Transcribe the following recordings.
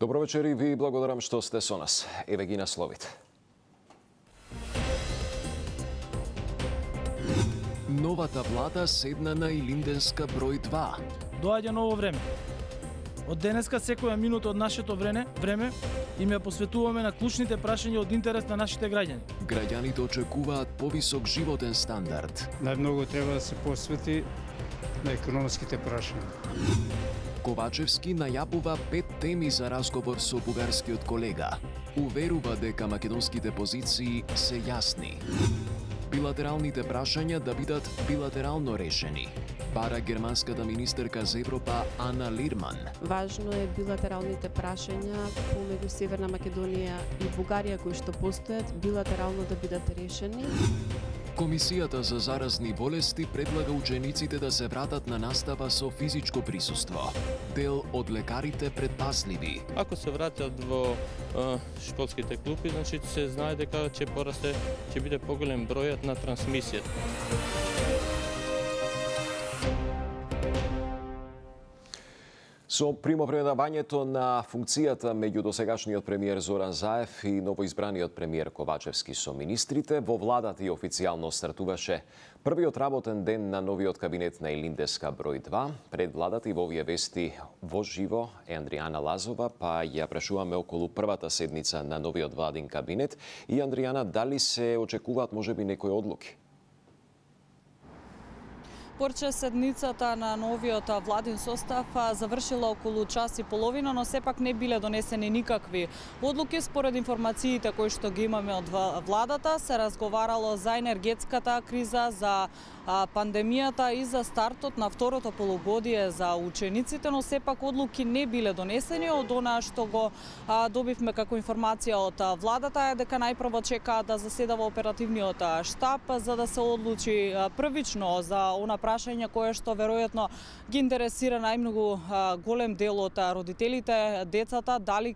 Добро вечер и ви благодарам што сте со нас. Еве ги насловите. Новата влада седна на Илинденска број 2. Доаѓа ново време. Од денеска секоја минута од нашето време им ја посветуваме на клучните прашања од интерес на нашите граѓани. Граѓаните очекуваат повисок животен стандард. Најмногу треба да се посвети на економските прашања. Ковачевски најавува 5 теми за разговор со бугарскиот колега. Уверува дека македонските позиции се јасни. Билатералните прашања да бидат билатерално решени. Бара германската министерка за Европа Ана Лирман. Важно е билатералните прашања помеѓу Северна Македонија и Бугарија кои што постојат билатерално да бидат решени. Комисијата за заразни болести предлага учениците да се вратат на настава со физичко присуство. Дел од лекарите предпазливи. Ако се вратат во школските клупи, значи се знае дека ќе биде поголем бројот на трансмисијата. Со примопредавањето на функцијата меѓу досегашниот премиер Зоран Заев и новоизбраниот премиер Ковачевски со министрите, во владата и официјално стартуваше првиот работен ден на новиот кабинет на Илинденска број 2. Пред владата и во овие вести во живо е Андријана Лазова, па ја прашуваме околу првата седница на новиот владин кабинет. И Андријана, дали се очекуваат можеби некои одлуки? Порче седницата на новиот владин состав завршила околу час и половина, но сепак не биле донесени никакви одлуки. Според информациите кои што ги имаме од владата, се разговарало за енергетската криза, за пандемијата и за стартот на второто полугодие за учениците, но сепак одлуки не биле донесени. Од она што го добивме како информација од владата е дека најпрво чекаат да заседава оперативниот штаб за да се одлучи првично за она прашање кое што веројатно ги интересира најмногу голем дел од родителите, децата, дали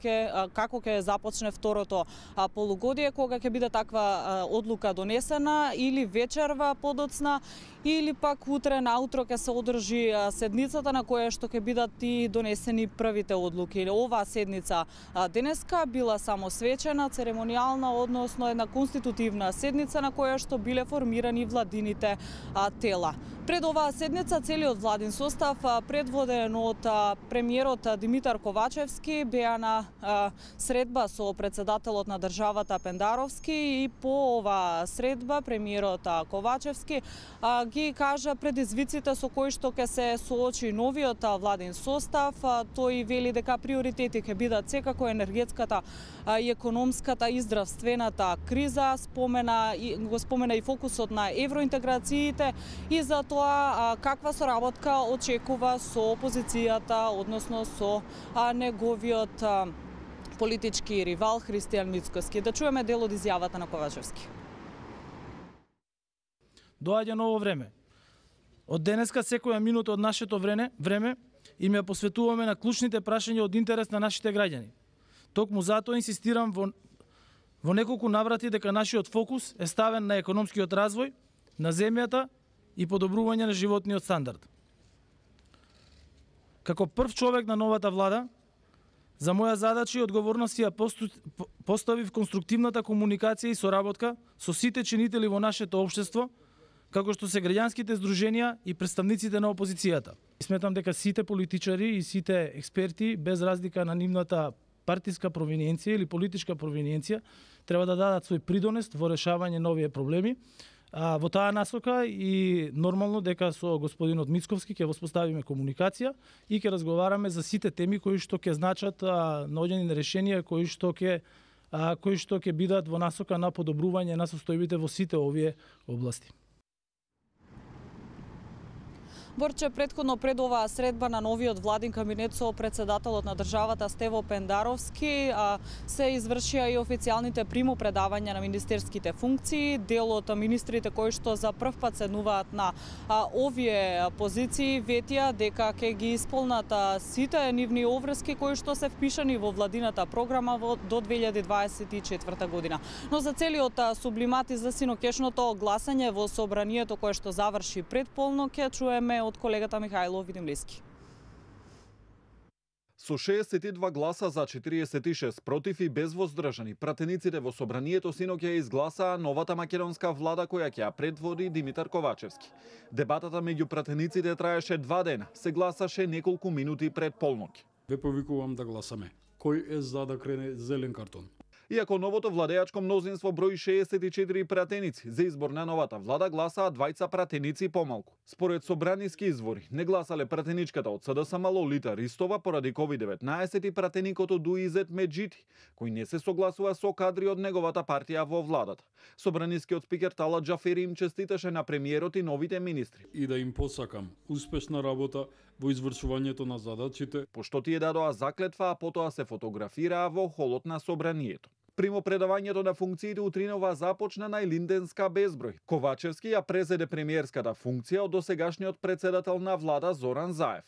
како ќе започне второто полугодие, кога ќе биде таква одлука донесена или вечерва подоцна, или пак утре наутро ќе се одржи седницата на која што ќе бидат и донесени првите одлуки. Оваа седница денеска била само свечена, церемонијална, односно една конститутивна седница на која што биле формирани владините тела. Пред оваа седница целиот владин состав, предводен од премиерот Димитар Ковачевски, беа на средба со председателот на државата Пендаровски и по оваа средба премиерот Ковачевски ги кажа предизвиците со кои што ќе се соочи новиот владин состав. Тој вели дека приоритети ќе бидат секако енергетската и економската и здравствената криза, го спомена и фокусот на евроинтеграциите и за тоа каква соработка очекува со опозицијата, односно со неговиот политички ривал Христијан Мицкоски. Да чуеме дел од изјавата на Ковачевски. Доаѓа ново време. Од денеска секоја минута од нашето време им ја посветуваме на клучните прашања од интерес на нашите граѓани. Токму затоа инсистирам во неколку наврати дека нашиот фокус е ставен на економскиот развој на земјата и подобрување на животниот стандард. Како прв човек на новата влада, за моја задача и одговорност ја поставив конструктивната комуникација и соработка со сите чинители во нашето општество, како што се граѓанските здруженија и представниците на опозицијата. Сметам дека сите политичари и сите експерти, без разлика на нивната партиска провиненција или политичка провиненција, треба да дадат свој придонес во решавање на овие проблеми. Во таа насока и нормално дека со господинот Мицковски ќе воспоставиме комуникација и ќе разговараме за сите теми кои што ќе значат наоѓање на решенија кои што ќе бидат во насока на подобрување на состојбите во сите овие области. Борче, предходно пред оваа средба на новиот владин кабинет со председателот на државата Стево Пендаровски се извршија и официјалните примопредавања на министерските функции. Дел од министрите кои што за прв пат седнуваат на овие позиции ветија дека ќе ги исполнат сите нивни обврски кои што се впишани во владината програма до 2024 година. Но за целиот сублимат и за синокешното гласање во собранието кое што заврши пред полнок ќе чуеме од колегата Михајло Видимлиски. Со 62 гласа за 46 против и без воздржани, пратениците во собранието синоќа ја изгласаа новата македонска влада која ќе ја предводи Димитар Ковачевски. Дебатата меѓу пратениците траеше 2 дена, се гласаше неколку минути пред полноќ. Ве повикувам да гласаме. Кој е за да крене зелен картон? Иако новото владеачко мнозинство брои 64 пратеници, за избор на новата влада гласаа 20 пратеници помалку. Според собраниски извори, не гласале пратеничката од СДСМ Лолита Ристова поради COVID-19 и пратеникото Дуизет Меджити, кој не се согласува со кадри од неговата партија во владата. Собранискиот спикер Талат Џафери им честиташе на премиерот и новите министри. И да им посакам успешна работа во извршувањето на задачите. Пошто тие дадоа заклетва, а потоа се фотографираа во холот на собранието. Примопредавањето на функциите утринова започна на Илинденска безброј. Ковачевски ја презеде премиерската функција од досегашниот председател на влада Зоран Заев.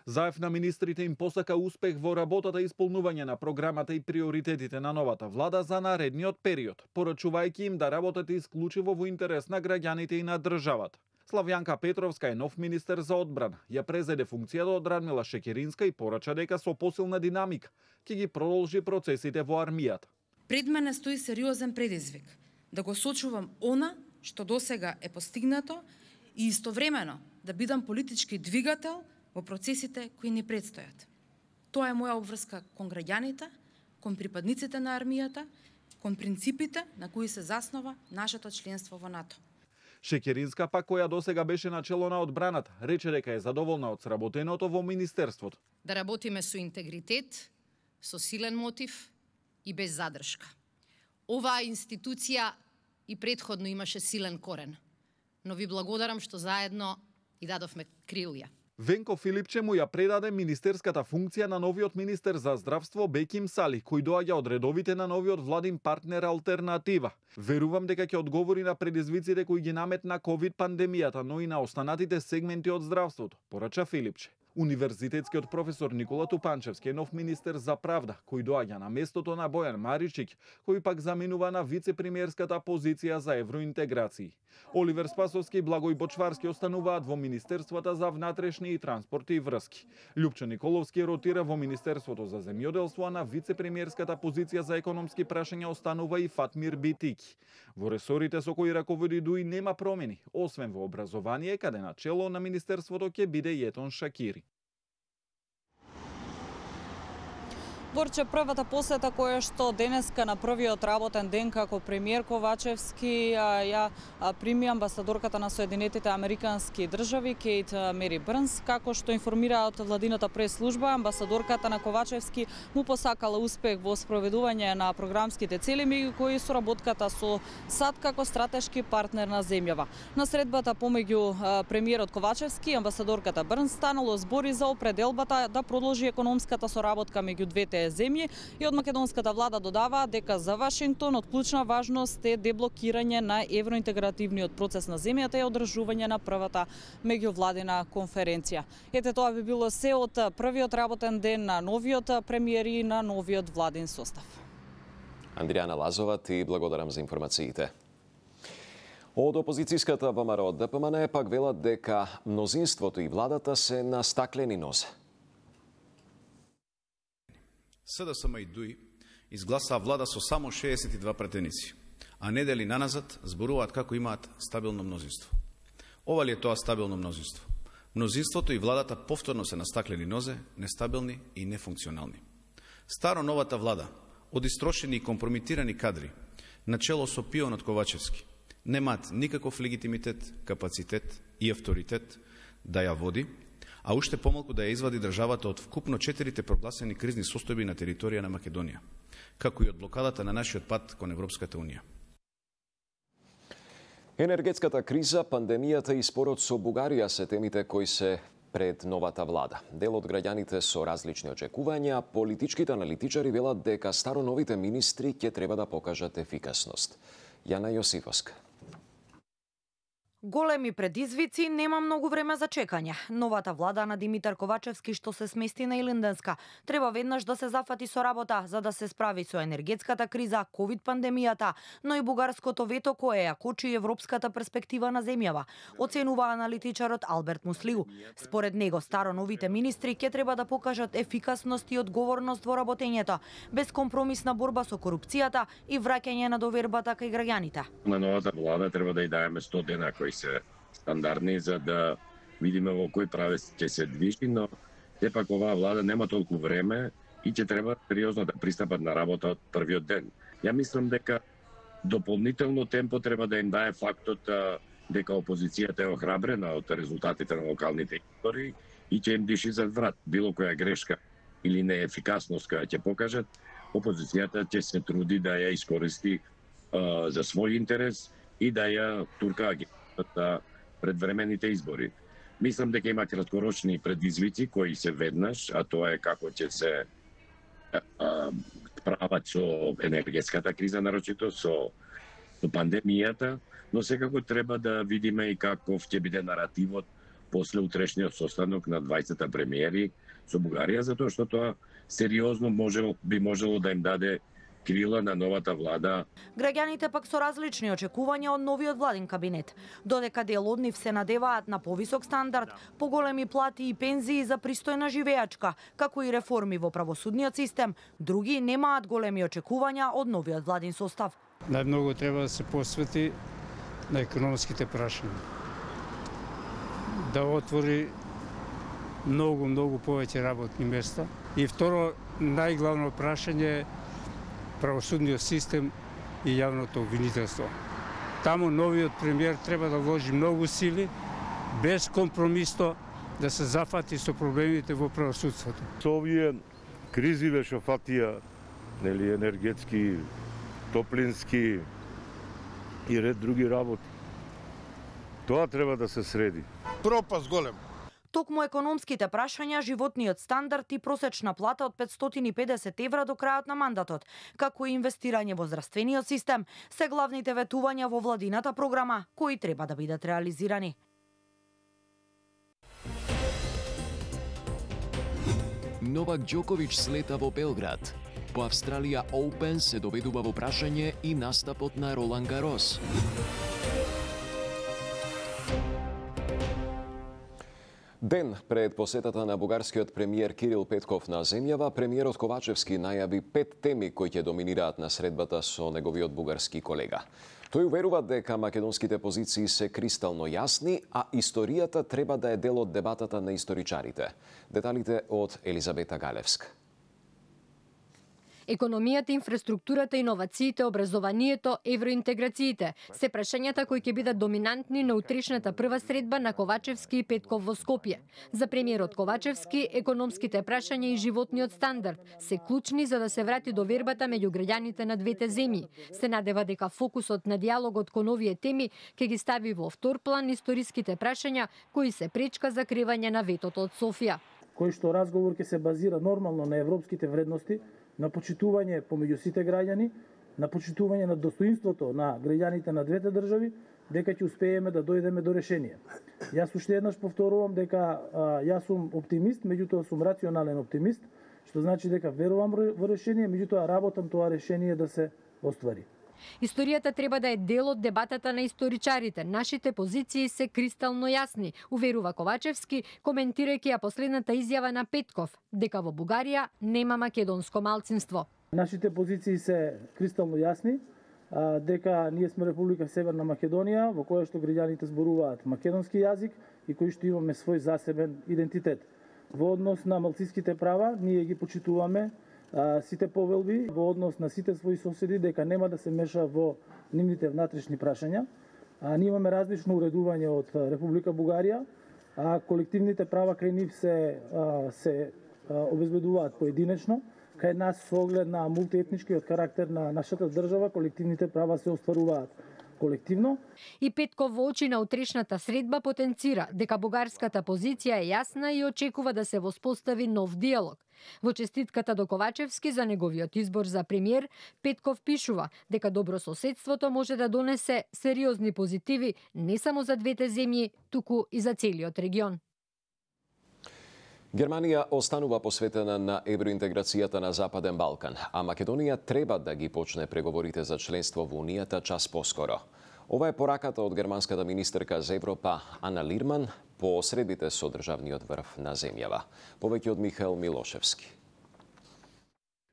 Заев на министрите им посака успех во работата и исполнување на програмата и приоритетите на новата влада за наредниот период, порачувајќи им да работат исклучиво во интерес на граѓаните и на државата. Славјанка Петровска е нов министер за одбрана. Ја презеде функцијата од Радмила Шекеринска и порача дека со посилна динамика ќе ги продолжи процесите во армијата. Пред мене стои сериозен предизвик да го сочувам она што досега е постигнато и истовремено да бидам политички двигател во процесите кои ни предстојат. Тоа е моја обврска кон граѓаните, кон припадниците на армијата, кон принципите на кои се заснова нашето членство во НАТО. Шекеринска пак, која досега беше на чело на одбраната, рече дека е задоволна од сработеното во министерството. Да работиме со интегритет, со силен мотив и без задршка. Оваа институција и претходно имаше силен корен, но ви благодарам што заедно и дадовме крилја. Венко Филипче му ја предаде министерската функција на новиот министер за здравство Беким Сали, кој доаѓа од редовите на новиот владин партнер Алтернатива. Верувам дека ќе одговори на предизвиците кои ги наметна ковид пандемијата, но и на останатите сегменти од здравството, порача Филипче. Универзитетскиот професор Никола Тупанчевски е нов министер за правда, кој доаѓа на местото на Бојан Маричик, кој пак заминува на вице-премиерската позиција за евроинтеграции. Оливер Спасовски и Благој Бочварски остануваат во Министерствата за внатрешни и транспорти и врски. Љупчо Николовски ротира во Министерството за земјоделство, а на вице-премиерската позиција за економски прашања останува и Фатмир Битики. Во ресорите со кои раководи ДУИ нема промени, освен во образование, каде на чело на Министерството ќе биде Јетон Шакири. Борче, првата посета која што денеска на првиот работен ден како премиер Ковачевски ја прими амбасадорката на Соединетите Американски држави Кейт Мери Брнс. Како што информира од владината прес-служба, амбасадорката на Ковачевски му посакала успех во спроведување на програмските цели, меѓу кои соработката со САД како стратешки партнер на земјава. На средбата помеѓу премиерот Ковачевски и амбасадорката Брнс станало збори за определбата да продолжи економската соработка меѓу двете земји и од македонската влада додава дека за Вашингтон од клучна важност е деблокирање на евроинтегративниот процес на земјата и одржување на првата меѓувладина конференција. Ете, тоа би било се од првиот работен ден на новиот премиер и на новиот владин состав. Андријана Лазова, ти благодарам за информациите. Од опозицијската ВМРО ДПМН пак велат дека мнозинството и владата се на стаклени нозе. СДСМ и ДУИ изгласаа влада со само 62 претеници, а недели наназад зборуваат како имаат стабилно мнозинство. Ова ли е тоа стабилно мнозинство? Мнозинството и владата повторно се на стаклени нозе, нестабилни и нефункционални. Старо новата влада, од истрошени и компрометирани кадри, начело со пионот Ковачевски, немаат никаков легитимитет, капацитет и авторитет да ја води, а уште помалку да ја извади државата од вкупно 4 прогласени кризни состојби на територија на Македонија, како и од блокадата на нашиот пат кон Европската Унија. Енергетската криза, пандемијата и спорот со Бугарија се темите кои се пред новата влада. Дел од граѓаните со различни очекувања, политичките аналитичари велат дека староновите министри ќе треба да покажат ефикасност. Јана Јосифовска. Големи предизвици, нема многу време за чекање. Новата влада на Димитар Ковачевски што се смести на Илинденска треба веднаш да се зафати со работа за да се справи со енергетската криза, ковид пандемијата, но и бугарското вето кое ја кочи европската перспектива на земјава, оценува аналитичарот Алберт Муслиу. Според него старо-новите министри ќе треба да покажат ефикасност и одговорност во работењето, безкомпромисна борба со корупцијата и враќање на довербата кај граѓаните. На новата влада треба да ја даеме 100 дена кои се стандардни за да видиме во кој правец ќе се движи, но сепак оваа влада нема толку време и ќе треба сериозно да пристапат на работа од првиот ден. Ја мислам дека дополнително темпо треба да им дае фактот дека опозицијата е охрабрена од резултатите на локалните избори и ќе им диши зад врат. Било која грешка или неефикасност која ќе покажат, опозицијата ќе се труди да ја искористи за свој интерес и да ја турка предвремените избори. Мислам дека има краткорочни предизвици кои се веднаш, а тоа е како ќе се справат со енергетската криза, нарочито со пандемијата, но секако треба да видиме и каков ќе биде наративот после утрешниот состанок на 20 премиери со Бугарија, затоа што тоа сериозно би можело да им даде крила на новата влада. Граѓаните пак со различни очекувања од новиот владин кабинет. Додека дел од нив се надеваат на повисок стандард, поголеми плати и пензии за пристојна живеачка, како и реформи во правосудниот систем, други немаат големи очекувања од новиот владин состав. Најмногу треба да се посвети на економските прашања. Да отвори многу повеќе работни места. И второ, најглавно прашање е правосудниот систем и јавното обвинителство. Таму новиот премиер треба да вложи многу сили, безкомпромисно да се зафати со проблемите во правосудството. Со овие кризи што фатија, нели, енергетски, топлински и ред други работи. Тоа треба да се среди. Пропаст голем. Токму економските прашања, животниот стандард и просечна плата од 550 евра до крајот на мандатот, како и инвестирање во здравствениот систем, се главните ветувања во владината програма, кои треба да бидат реализирани. Новак Џоковиќ слета во Белград. По Австралија Оупен се доведува во прашање и настапот на Ролан Гарос. Ден пред посетата на бугарскиот премиер Кирил Петков на земјава, премиерот Ковачевски најави 5 теми кои ќе доминираат на средбата со неговиот бугарски колега. Тој уверува дека македонските позиции се кристално јасни, а историјата треба да е дел од дебатата на историчарите. Деталите од Елизабета Галевска. Економијата, инфраструктурата, иновациите, образованието, евроинтеграциите се прашањата кои ќе бидат доминантни на утрешната прва средба на Ковачевски и Петков во Скопје. За премиерот Ковачевски, економските прашања и животниот стандард се клучни за да се врати довербата меѓу граѓаните на двете земји. Се надева дека фокусот на диалогот кон овие теми ќе ги стави во втор план историските прашања кои се пречка за кривање на ветото од Софија. Кој што разговор ќе се базира нормално на европските вредности, на почитување помеѓу сите граѓани, на почитување на достоинството на граѓаните на двете држави, дека ќе успееме да дојдеме до решение. Јас уште еднаш повторувам дека јас сум оптимист, меѓутоа сум рационален оптимист, што значи дека верувам во решение, меѓутоа работам тоа решение да се оствари. Историјата треба да е дел од дебатата на историчарите. Нашите позиции се кристално јасни, уверува Ковачевски, коментирајќи ја последната изјава на Петков, дека во Бугарија нема македонско малцинство. Нашите позиции се кристално јасни, дека ние сме Република Северна Македонија, во која што граѓаните зборуваат македонски јазик и кои што имаме свој засебен идентитет. Во однос на малцинските права, ние ги почитуваме сите повелби во однос на сите своји соседи дека нема да се меша во нивните внатрешни прашања. Ние имаме различно уредување од Република Бугарија, а колективните права кај нив се обезбедуваат поединечно. Кај нас со оглед на мултиетничкиот карактер на нашата држава, колективните права се остваруваат колективно. И Петков во очи на утрешната средба потенцира дека бугарската позиција е јасна и очекува да се воспостави нов диалог. Во честитката до Ковачевски за неговиот избор за премиер, Петков пишува дека добрососедството може да донесе сериозни позитиви не само за двете земји, туку и за целиот регион. Германија останува посветена на евроинтеграцијата на Западен Балкан, а Македонија треба да ги почне преговорите за членство во Унијата час поскоро. Ова е пораката од германската министерка за Европа Ана Лирман по средбите со државниот врв на земјава. Повеќе од Михаел Милошевски.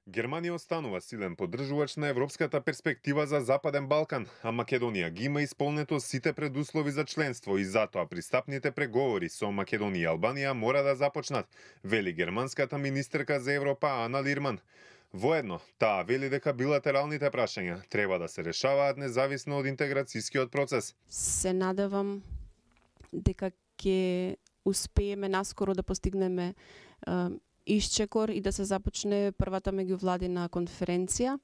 Германија останува силен поддржувач на европската перспектива за Западен Балкан, а Македонија ги има исполнето сите предуслови за членство и затоа пристапните преговори со Македонија и Албанија мора да започнат, вели германската министерка за Европа Ана Лирман. Воедно, таа вели дека билатералните прашања треба да се решаваат независно од интеграцијскиот процес. Се надевам дека ќе успееме наскоро да постигнеме исчекор и да се започне првата меѓувладина конференција.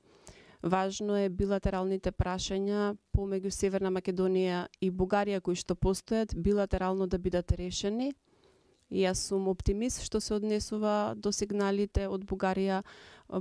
Важно е билатералните прашања помеѓу Северна Македонија и Бугарија кои што постојат билатерално да бидат решени. Јас сум оптимист што се однесува до сигналите од Бугарија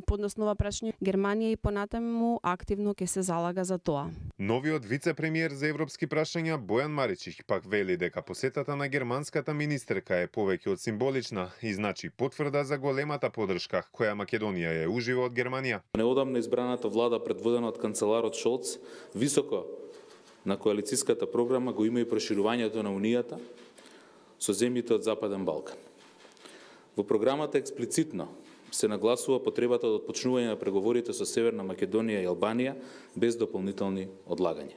подносно ова прашање. Германија и понатаму активно ќе се залага за тоа. Новиот вице-премиер за европски прашања Бојан Маричич пак вели дека посетата на германската министерка е повеќе од символична и значи потврда за големата поддршка која Македонија ја ужива од Германија. Неодамна избраната влада предводена од канцеларот Шолц високо на коалицијската програма го има и проширувањето на Унијата со земјите од Западен Балкан. Во програмата експлицитно се нагласува потребата од отпочнување на преговорите со Северна Македонија и Албанија без дополнителни одлагања.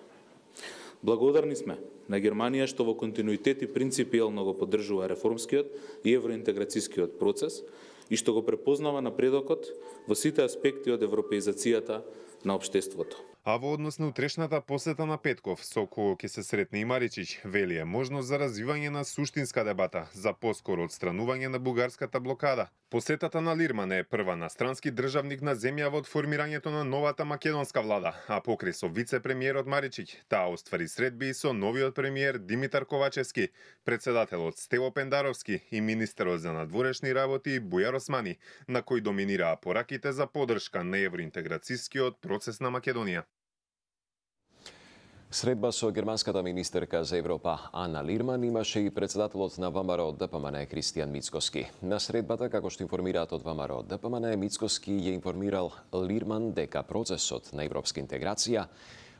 Благодарни сме на Германија што во континуитет и принципијално го поддржува реформскиот и евроинтеграцијскиот процес и што го препознава напредокот во сите аспекти од европеизацијата на општеството. А во однос на утрешната посета на Петков, со кој ќе се сретне и Маричич, вели е можност за развивање на суштинска дебата за поскоро отстранување на бугарската блокада. Посетата на Лирман е прва на странски државник на земјава од формирањето на новата македонска влада, а покрај со вице-премиерот Маричич, таа оствари средби и со новиот премиер Димитар Ковачевски, председателот Стево Пендаровски и министерот за надворешни работи Бујар Османи, на кои доминираа пораките за поддршка на евроинтеграцијскиот процес на Македонија. Средба со германската министерка за Европа Ана Лирман имаше и председателот на ВМРО ДПМН Кристијан Мицкоски. На средбата, како што информираат од ВМРО ДПМН, Мицкоски ја информирал Лирман дека процесот на европска интеграција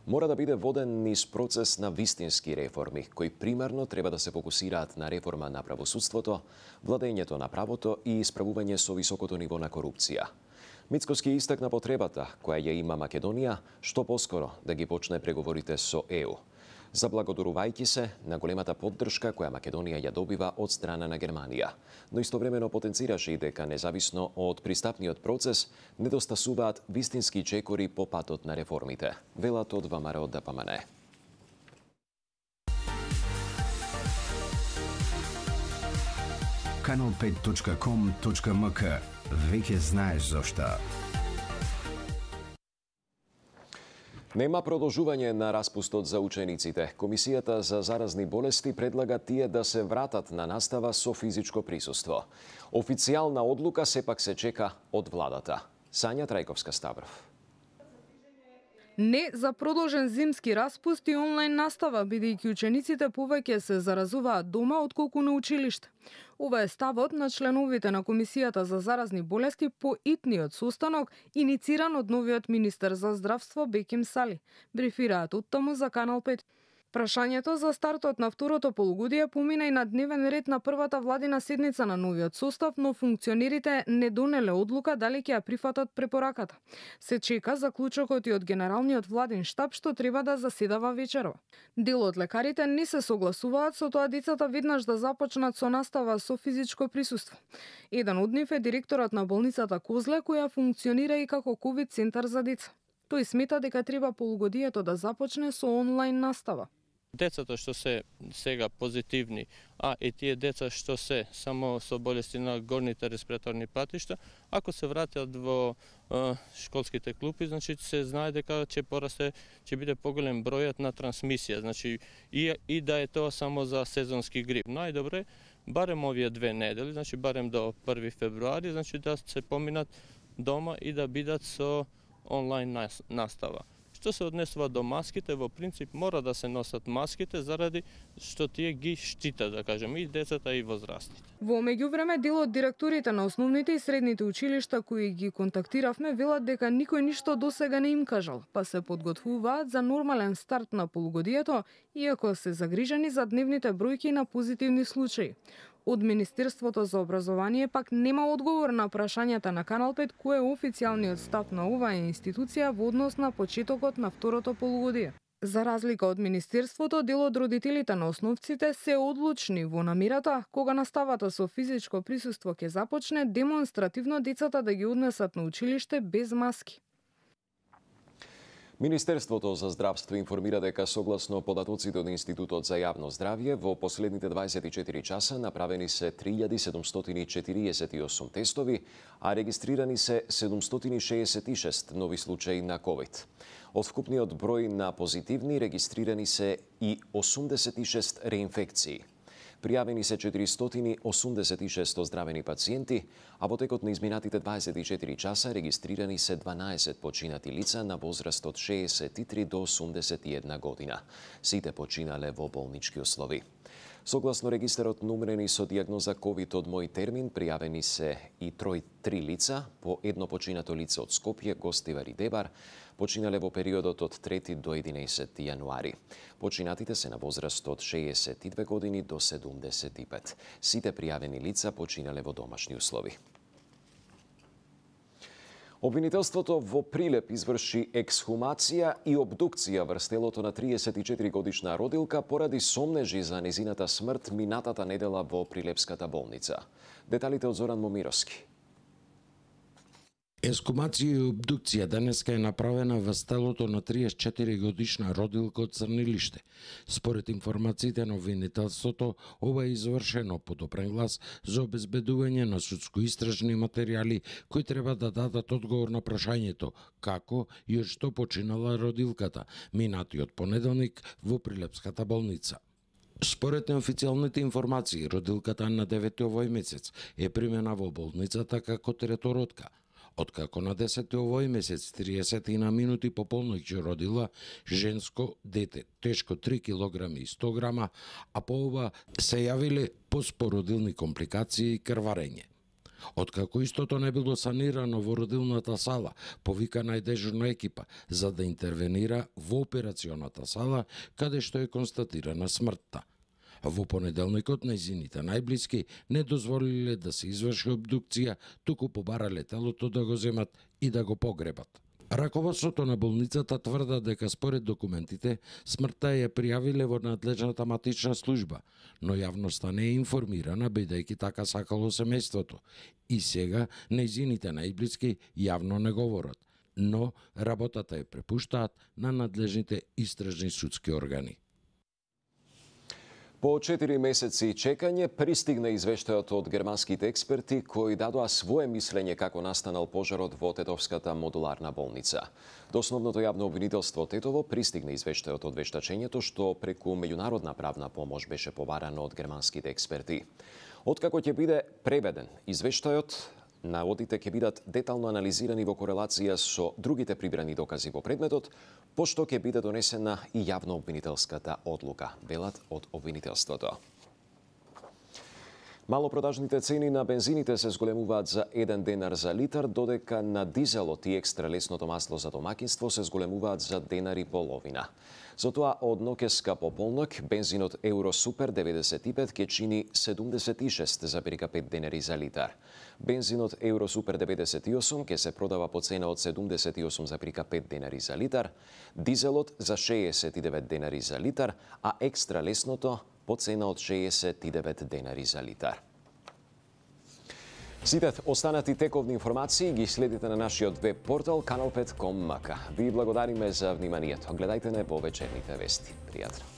мора да биде воден низ процес на вистински реформи, кои примарно треба да се фокусираат на реформа на правосудството, владењето на правото и исправување со високото ниво на корупција. Мицкоски истакна потребата која ја има Македонија што поскоро да ги почне преговорите со ЕУ, заблагодарувајќи се на големата поддршка која Македонија ја добива од страна на Германија, но истовремено потенцираше и дека независно од пристапниот процес недостасуваат вистински чекори по патот на реформите, велат од ВМРО ДПМН. Kanal5.com.mk. Веќе знаеш зошто. Нема продолжување на распустот за учениците. Комисијата за заразни болести предлага тие да се вратат на настава со физичко присуство. Официјална одлука сепак се чека од владата. Сања Трајковска Ставров. Не за продолжен зимски распуст и онлайн настава, бидејќи учениците повеќе се заразуваат дома отколку на училиште. Ова е ставот на членовите на Комисијата за заразни болести по итниот состанок, инициран од новиот министер за здравство Беким Сали. Брифираат оттаму за Канал 5. Прашањето за стартот на второто полугодие помина и на дневен ред на првата владина седница на новиот состав, но функционерите не донеле одлука дали ќе ја прифатат препораката. Се чека заклучокот и од Генералниот владин штаб што треба да заседава вечерва. Дел од лекарите не се согласуваат со тоа децата веднаш да започнат со настава со физичко присуство. Еден од нив е директорот на болницата Козле, која функционира и како ковид центар за деца. Тој смета дека треба полугодието да започне со онлайн настава. Децата што се сега позитивни, а и тие деца што се само со болести на горните респираторни патишта, ако се вратат во школските клупи, значи се знае дека ќе биде поголем бројот на трансмисија, значи и да е тоа само за сезонски грип. Најдобре барем овие 2 недели, значи барем до 1 февруари, значи да се поминат дома и да бидат со онлайн настава. Што се однесува до маските, во принцип мора да се носат маските заради што тие ги штитат, да кажем, и децата и возрастните. Во меѓувреме, дел од директорите на основните и средните училишта кои ги контактиравме велат дека никој ништо досега не им кажал, па се подготвуваат за нормален старт на полугодието, иако се загрижени за дневните бројки на позитивни случаи. Од Министерството за образование пак нема одговор на прашањата на Канал 5 кој е официјалниот став на оваа институција во однос на почетокот на второто полугодие. За разлика од Министерството, дел од родителите на основците се одлучни во намерата кога наставата со физичко присуство ќе започне, демонстративно децата да ги однесат на училиште без маски. Министерството за здравство информира дека согласно податоците од Институтот за јавно здравје, во последните 24 часа направени се 3748 тестови, а регистрирани се 766 нови случаи на COVID. Од вкупниот број на позитивни регистрирани се и 86 реинфекции. Пријавени се 486 оздравени пациенти, а во текот на изминатите 24 часа регистрирани се 12 починати лица на возраст од 63 до 81 година. Сите починале во болнички услови. Согласно регистарот на умрени со дијагноза COVID од мој термин, пријавени се и 3 лица, по едно починато лице од Скопје, Гостивар и Дебар, починале во периодот од 3 до 11 јануари. Починатите се на возраст од 62 години до 75. Сите пријавени лица починале во домашни услови. Обвинителството во Прилеп изврши ексхумација и обдукција врз телото на 34-годишна родилка поради сомнежи за незината смрт минатата недела во Прилепската болница. Деталите од Зоран Момировски. Ексхумација и обдукција денеска е направена во телото на 34-годишна родилка од Црнилиште. Според информациите на обвинителството, ова е извршено под опрен глас за обезбедување на судско-истражни материјали кои треба да дадат одговор на прашањето како и од што починала родилката минатиот понеделник во Прилепската болница. Според неофицијалните информации, родилката на 9 овој месец е примена во болницата како третородка. Откако на 10 овој месец 30 на минути по полноќ родила женско дете, тешко 3 кг и 100 грама, а по ова се јавиле поспородилни компликации и крварење. Откако истото не било санирано во родилната сала, повикана е дежурна екипа за да интервенира во операционата сала, каде што е констатирана смртта. Во понеделникот нејзините најблиски не дозволиле да се изврши обдукција, туку побарале телото да го земат и да го погребат. Раководството на болницата тврда дека според документите смртта ја пријавиле во надлежната матична служба, но јавноста не е информирана бидејќи така сакало семејството. И сега нејзините најблиски јавно не говорат, но работата ја препуштаат на надлежните истражни судски органи. По 4 месеци чекање пристигна извештајот од германските експерти кои дадоа свое мислење како настанал пожарот во Тетовската модуларна болница. До основното јавно обвинителство Тетово пристигна извештајот од вештачењето што преку меѓународна правна помош беше побарано од германските експерти. Откако ќе биде преведен извештајот, наводите ќе бидат детално анализирани во корелација со другите прибрани докази во предметот, пошто ќе биде донесена и јавно обвинителската одлука, велат од обвинителството. Малопродажните цени на бензините се зголемуваат за 1 денар за литар, додека на дизелот и екстра лесното масло за домакинство се зголемуваат за денар и половина. Затоа од ноќеска по полнок бензинот Евро Супер 95 ќе чини 76,5 денари за литар. Бензинот Евро Супер 98 ќе се продава по цена од 78,5 денари за литар, дизелот за 69 денари за литар, а екстра лесното по цена од 69 денари за литар. Сите останати тековни информации ги следите на нашиот веб портал kanal5.com. Ви благодариме за вниманието. Гледајте не во вечерните вести. Пријатно.